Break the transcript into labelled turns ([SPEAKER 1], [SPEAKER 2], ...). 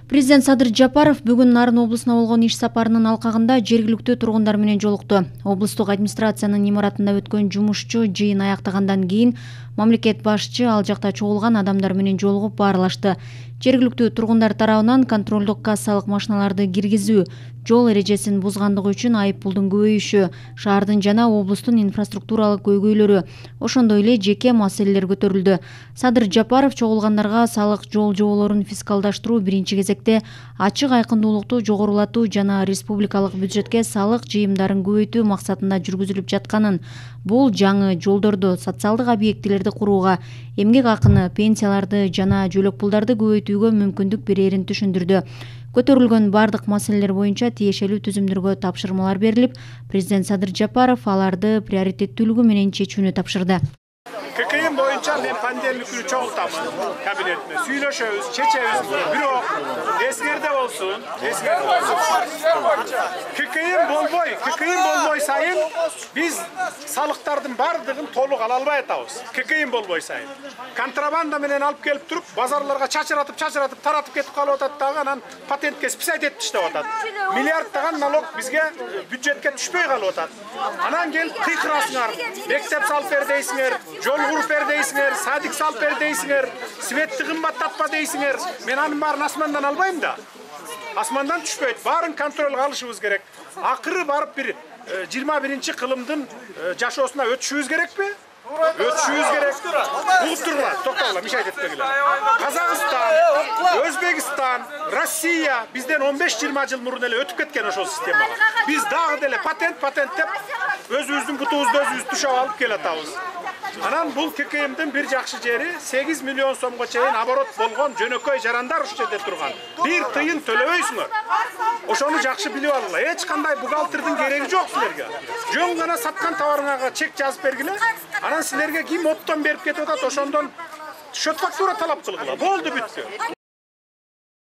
[SPEAKER 1] Президент Садыр Жапаров бүгүн Нарын облусуна болгон иш сапарынын алкагында жергиликтүү тургундар менен жолукту. Облустук администрациянын имаратында өткөн жумушчу жыйын аяктагандан кийин мамлекет башчы ал жакта чогулган адамдар менен жолугуп баарлашты. Жергиликтүү тургундар тарабынан контролдук кассалык машиналарды киргизүү, жол эрежесин бузгандыгы үчүн айыппулдун көбөйүшү, шаардын жана облустун инфраструктуралык көйгөйлөрү, ошондой эле жеке маселелер көтөрүлдү. Садыр Жапаров чогулгандарга салык жол жоболорун фискалдаштыруу биринчи кезекте ачык айкындуулукту жогорулатуу жана республикалык бюджетке салык жыйымдарын көбөйтүү максатында жүргүзүлүп жатканын, бул жаңы жолдорду, социалдык объектилерди курууга, эмгек акыны, пенсияларды жана жөлөк пулдарды көбөйтүүгө мүмкүндүк берерин түшүндүрдү. Көтөрүлгөн бардык маселелер боюнча тиешелүү түзүмдөргө тапшырмалар берилип, президент Садыр Жапаров аларды приоритеттүүлүгү менен чечүүнү тапшырды.
[SPEAKER 2] ККМ боюнча мен понедельник күнү чогултамын кабинетине, сүйлөшөбүз, чечебиз. Бирок эсиңерде болсун, ККМ болбой сайын биз салыктардын бардыгын толук ала албай атабыз. ККМ болбой сайын контрабанда менен алып келип туруп, базарларга чачыратып таратып кетип калып атат дагы, анан патентке списать этип таштап атат. Миллиарддаган налог бизге бюджетке түшпөй калып атат. Анан келип кыйкырасыңар, мектеп салып бер дейсиңер, жол куруп бер дейсиңер, садик салып бер дейсиңер, светти кымбаттатпа дейсиңер. Мен анын баарын асмандан албайм да. Асмандан түшпөйт. Баарын контролго алышыбыз керек. Акыры барып бир 21-чи кылымдын жашоосуна өтүшүбүз керекпи? Өтүшүбүз керек. Угуп тургула, токтогула, мишайт этпегиле. Казакстан, Өзбекстан, Россия бизден 15-20 жыл мурун эле өтүп кеткен ошол системага. Биз дагы деле патент деп өзүбүздүн бутубузду өзүбүз түшөп алып келатабыз. Анан бул ККМдин бир жакшы жери 8 миллион сомго чейин оборот болгон жөнөкөй жарандар ушул жерде турган. Бир тыйын төлөбөйсүңөр. Ошону жакшы билип алгыла. Эч кандай бухгалтердин кереги жок силерге. Жөн гана саткан товарыңарга чек жазып бергиле. Анан силерге ким оптон берип кетип атат, ошондон счет фактура талап кылгыла. Болду, бүттү.